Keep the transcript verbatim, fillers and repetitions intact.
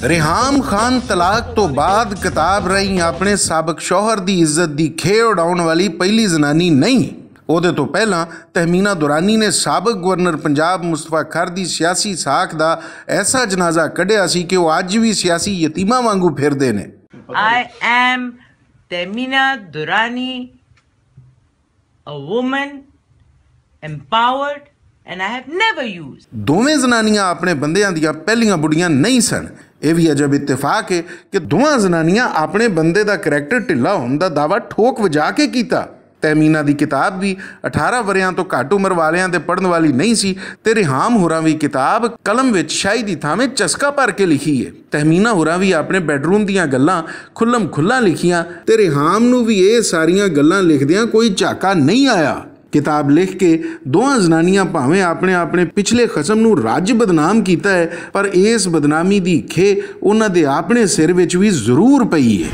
ریحام خان طلاق تو بعد کتاب راہیں اپنے سابق شوہر دی عزت دی کھے اڑاؤن والی پہلی زنانی نہیں۔ اوہدے تو پہلاں تہمینہ دورانی نے سابق گورنر پنجاب مصطفی کھر دی سیاسی ساکھ دا ایسا جنازہ کڈیا سی کہ وہ اج وی سیاسی یتیماں وانگوں پھردے نے۔ I am Temina Durrani, a woman empowered, and I have never used. دوویں زنانیاں اپنے بندیاں دیاں پہلیاں بڑیاں نہیں سن۔ ایہ وی عجب اتفاق ہے کہ دوواں زنانیاں اپنے بندے دا کریکٹر ڈھلا ہون دا دعویٰ ٹھوک وجا کے کیتا۔ تہمینہ دی کتاب وی اٹھارہ وریاں توں گھٹ عمر والیاں تے پڑھن والی نہیں سی۔ تے ریحام ہوراں وی کتاب قلم وچ شاہی دی تھاویں چسکا بھر کے لکھی ہے۔ تہمینہ ہوراں وی اپنے بیڈروم دیاں گلاں کھلم کھلاں لکھیاں۔ تے ریحام نوں وی ایہہ ساریاں گلاں لکھدیاں کوئی جھاکا نہیں آیا۔ کتاب لکھ کے دوواں زنانیاں پاویں اپنے اپنے پچھلے قسم نوں رج بدنام کیتا ہے، پر ایس بدنامی دی کھے انہاں دے اپنے سر وچ وی ضرور پئی ہے۔